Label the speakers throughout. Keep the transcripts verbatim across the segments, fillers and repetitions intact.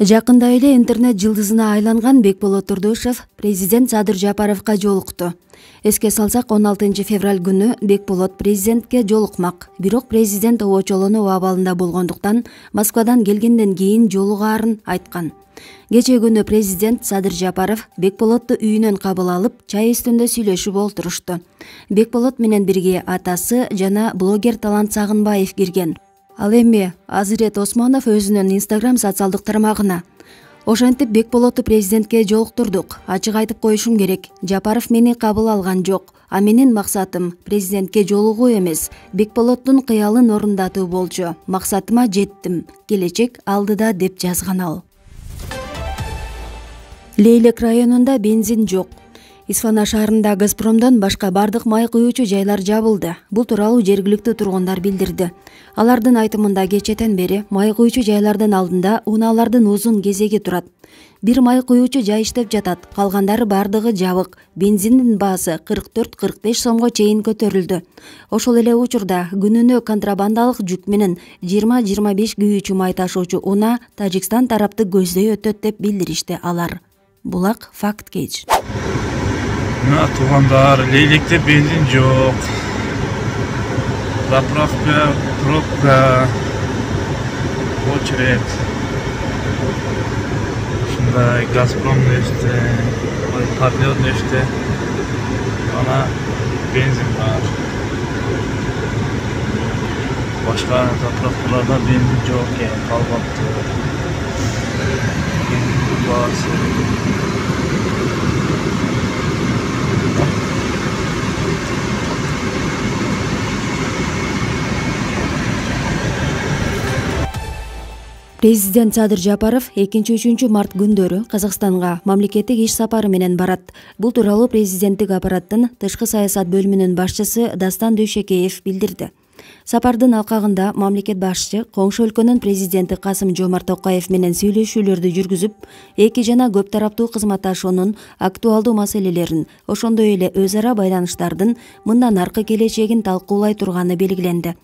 Speaker 1: Жакында эле интернет жылдызына айланган Бекболот Турдушев президент Садыр Жапаровго жолукту. Эске салсак, он алтынчы февраль күнү Бекболот президентке жолукмак. Бирок президент обочолонуу абалында болгондуктан Москвадан келгенден кийин жолугаарын айткан. Кечээ күнү президент Садыр Жапаров Бекболотту үйүнөн кабыл алып, чай үстүндө сүйлөшүп олтурушту. Бекболот менен бирге атасы жана блогер Талант Сагынбаев кирген. Ал эми Азырет Осмонов өзүнүн Instagram социалдык тармагына: ошентип Бекболотту президентке жолуктурдук. Ачык айтып коюшум керек, Жапаров мени кабыл алган жок. А менин максатым президентке жолугуу эмес, Бекболоттун кыялын орундатуу болчу. Максатыма жеттим. Келечек алдыда, деп жазган ал. Лейлек районунда бензин жок. Исфана шаарында Газпромдон башка бардык май куюучу жайлар жабылды. Бул тууралуу жергиликтүү тургундар билдирди. Алардын айтымында кечээден бери май куюучу жайлардын алдында унаалардын узун кезеги турат. Бир май куюучу жай иштеп жатат, калгандары бардыгы жабык. Бензиндин баасы кырк төрт кырк беш сомго чейин көтөрүлдү. Ошол эле учурда күнүнө контрабандалык жүк менен жыйырма жыйырма беш күйүүчү май ташуучу унаа Тажикстан тарапты көздөй өтөт деп билдиришти алар. Булак факт кеч.
Speaker 2: Мына туугандар, Лейлекте бензин жок. Заправка, пробка, очередь. Ушундай Газпром неште, партнер неште. Ана бензин бар. Башка заправкаларда бензин жок экен, калбапты. Бензин баасы.
Speaker 1: Президент Садыр Жапаров экинчи-үчүнчү март күндөрү Казакстанга мамлекеттик иш сапары менен барат. Бул тууралуу президенттик аппараттын тышкы саясат бөлүмүнүн башчысы Дастан Дүйшекеев билдирди. Сапардын алкагында мамлекет башчы коңшу өлкөнүн президенти Касым Жомарт Токаев менен сүйлөшүүлөрдү жүргүзүп, эки жана көп тараптуу кызматташуунун актуалдуу маселелерин, ошондой эле өз ара байланыштардын мындан аркы келечегин талкуулай турганы белгиленди.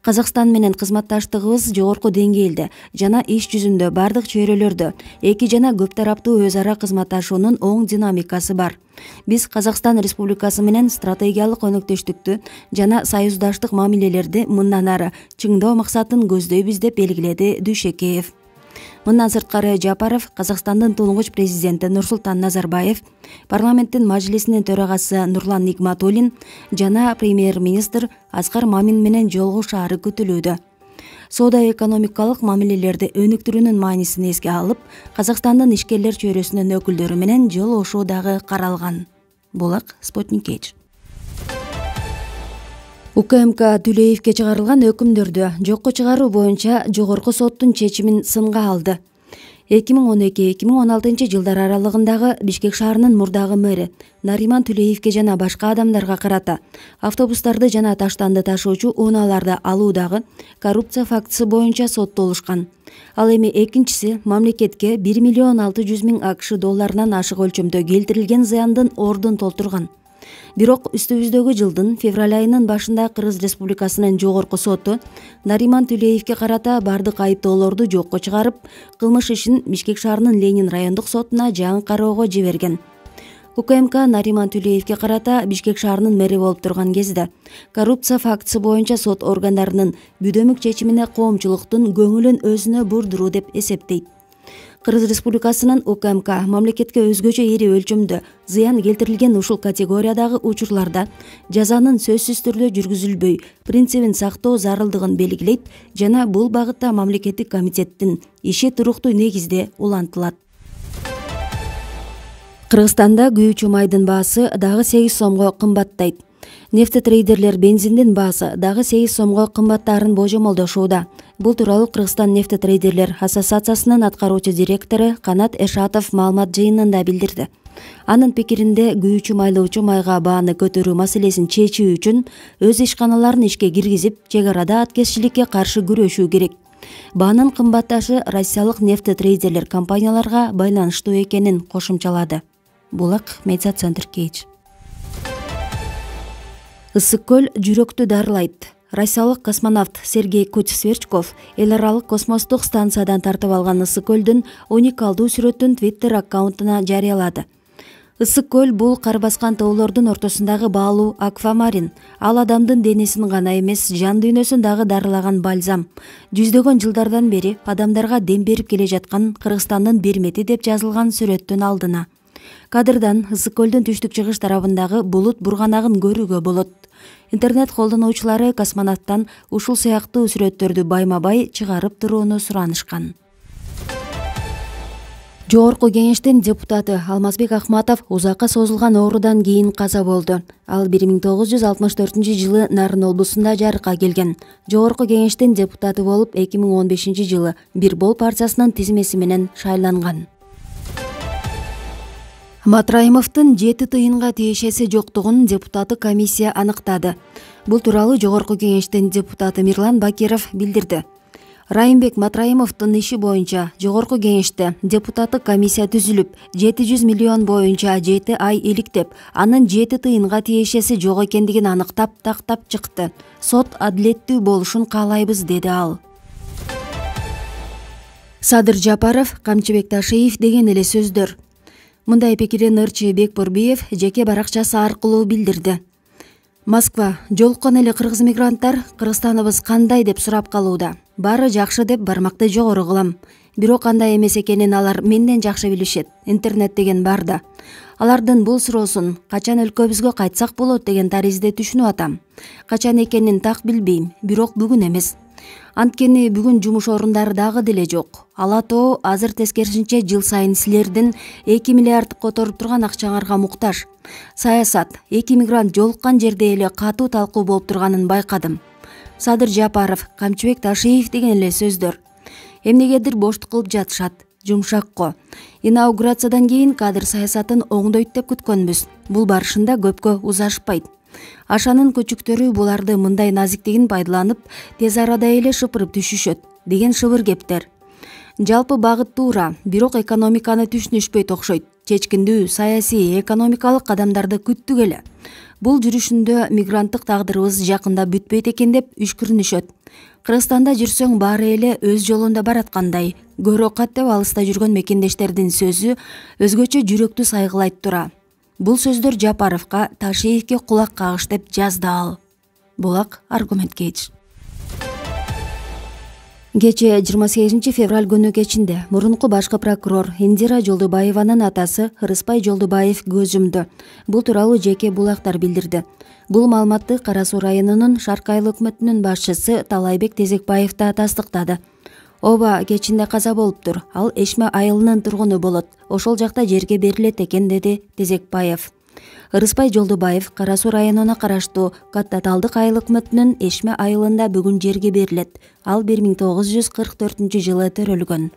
Speaker 1: Казакстан менен кызматташтыгыбыз жогорку деңгээлде жана иш жүзүндө бардык чөйрөлөрдө эки жана көп тараптуу өз ара кызматташуунун оң динамикасы бар. Биз Казакстан Республикасы менен стратегиялык өнөктөштүктү жана союздаштык мамилелерди мындан ары чыңдоо максатын көздөйбүз, деп белгиледи Дүйшекеев. Мындан сырткары Жапаров Казакстандын тунугуч президенти Нурсултан Назарбаев, парламенттин мажлисинин төрагасы Нурлан Нигматуллин жана премьер-министр Аскар Мамин менен жолугушаары күтүлүүдө. Соода-экономикалык мамилелерди өнүктүрүүнүн маанисин эске алып, Казакстандын ишкерлер чөйрөсүнүн өкүлдөрү менен жолугушуу дагы каралган. Булак Спутник Кеч. УКМК Түлеевке чыгарылган өкүмдөрдү жокко чыгаруу боюнча жогорку соттун чечимин сынга алды. эки миң он эки эки миң он алтынчы жылдар аралыгындагы Бишкек шаарынын мурдагы мэри Нариман Түлеевке жана башка адамдарга карата автобустарды жана таштанды ташуучу унааларды алуудагы коррупция фактысы боюнча соттолушкан. Ал эми экинчиси мамлекетке бир миллион алты жүз миң АКШ долларынан ашык өлчөмдө келтирилген зыяндын ордун толтурган. Бирок үстүбүздөгү жылдын февраль айынын башында Кыргыз Республикасынын жогорку соту Нариман Түлеевке карата бардык айыптоолорду жокко чыгарып, кылмыш ишин Бишкек шаарынын Ленин райондук сотуна жаңы кароого жиберген. УКМК Нариман Түлеевке карата Бишкек шаарынын мэри болуп турган кезде коррупция фактысы боюнча сот органдарынын бүдөмүк чечимине коомчулуктун көңүлүн өзүнө бурдуруу деп эсептейт. Кыргыз Республикасынын УКМК мамлекетке өзгөчө ири өлчөмдө зыян келтирилген ушул категориядагы учурларда жазанын сөзсүз түрдө жүргүзүлбөй принцибин сактоо зарылдыгын белгилейт жана бул багытта мамлекеттик комитеттин иши туруктуу негизде улантылат. Кыргызстанда күйүүчү майдын баасы дагы сегиз сомго кымбаттайт. Нефтетрейдерлер бензиндин баасы дагы сегиз сомго кымбаттаарын божомолдошууда. Бул тууралуу Кыргызстан нефтетрейдерлер ассоциациясынын аткаруучу директору Канат Эшатов маалымат жыйынында билдирди. Анын пикиринде күйүүчү майлоочу майга бааны көтөрүү маселесин чечүү үчүн өз ишканаларын ишке киргизип, чек арада аткезчиликке каршы күрөшүү керек. Баанын кымбатташы россиялык нефтетрейдерлер компанияларга байланыштуу экенин кошумчалады. Булак Медиа Центр Кеч. Ысык көл жүрөктү дарылайт. Россиялык космонавт Сергей Куч-Сверчков эл аралык космостук станциядан тартып алган ысык көлдүн уникалдуу сүрөтүн Twitter аккаунтуна жарыялады. Ысык көл бул кар баскан тоолордун ортосундагы баалуу аквамарин. Ал адамдын денесин гана эмес, жан дүйнөсүн дагы дарылаган бальзам. Жүздөгөн жылдардан бери адамдарга дем берип келе жаткан Кыргызстандын бермети деп жазылган сүрөттүн алдына. Кадрдан ысык көлдүн түштүк-чыгыш тарабындагы булут бурганагын көрүүгө болот. Интернет колдонуучулары космонавттан ушул сыяктуу сүрөттөрдү байма-бай чыгарып турууну суранышкан. Жогорку кеңештин депутаты Алмазбек Ахматов узакка созулган оорудан кийин каза болду. Ал бир миң тогуз жүз алтымыш төртүнчү жылы Нарын облусунда жарыкка келген. Жогорку кеңештин депутаты болуп эки миң он бешинчи жылы Бир Бол партиясынын тизмеси менен шайланган. Матраимовдун жети тыйынга тиешеси жоктугун депутаттык комиссия аныктады. Бул тууралуу Жогорку кеңештин депутаты Мирлан Бакиров билдирди. Райымбек Матраимовдун иши боюнча Жогорку кеңеште депутаттык комиссия түзүлүп, жети жүз миллион боюнча жети ай иликтеп, анын жети тыйынга тиешеси жок экендигин аныктап, тактап чыкты. Сот адилеттүү болушун каалайбыз, деди ал. Садыр Жапаров, Камчыбек Ташиев деген эле сөздөр. Мындай пикирин ырчы Бекбурбиев жеке баракчасы аркылуу билдирди. Москва: жолуккан эле кыргыз мигранттар Кыргызстаныбыз кандай деп сурап калууда. Баары жакшы деп бармакты жогору кылам. Бирок кандай эмес экенин алар менден жакшы билишет. Интернет деген бар да. Алардын бул суроосун качан өлкөбүзгө кайтсак болот деген таризде түшүнүп атам. Качан экенин так билбейм, бирок бүгүн эмес. Анткени бүгүн жумуш орундары дагы деле жок. Ала тоо азыр тескерисинче жыл сайын силердин эки миллиард которуп турган акчаңарга муктаж. Саясат, эки мигрант жолуккан жерде эле катуу талкуу болуп турганын байкадым. Садыр Жапаров, Камчыбек Ташиев деген эле сөздөр. Эмнегедир боштук кылып жатышат. Жумшакко. Инаугурациядан кийин кадр саясатын оңдойт деп күткөнбүз. Бул барышында көпкө узашпайт. Ашанын көчүктөрү буларды мындай назиктигин пайдаланып, тез арада эле шыпырып түшүшөт деген шыбыр кептер. Жалпы багыт туура, бирок экономиканы түшүнүшпөйт окшойт. Чечкиндүү саясий, экономикалык кадамдарды күттүк эле. Бул жүрүшүндө мигранттык тагдырыбыз жакында бүтпөйт экен деп үшкүрүнүшөт. Кыргызстанда жүрсөң баары эле өз жолунда бараткандай. Көрө каттеп алыста жүргөн мекендештердин сөзү өзгөчө жүрөктү сайгылайт тура. Бул сөздөр Жапаровго, Ташиевге кулак кагыш деп жазды ал. Булак аргумент кейч. Кечээ жыйырма сегизинчи февраль күнү кечинде мурунку башкы прокурор Индира Жолдубаеванын атасы Ырыспай Жолдубаев көз жумду. Бул тууралуу жеке булактар билдирди. Бул маалыматты Кара Суу районунун Шарк айыл өкмөтүнүн башчысы Талайбек Тезекбаев да тастыктады. Ооба кечинде каза болуптур. Ал Эшме айылынын тургуну болот. Ошол жакта жерге берилет экен, деди Тезекбаев. Ырыспай Жолдубаев Кара Суу районуна караштуу Каттаталдык айыл өкмөтүнүн Эшме айылында бүгүн жерге берилет. Ал бир миң тогуз жүз кырк төртүнчү жылы төрөлгөн.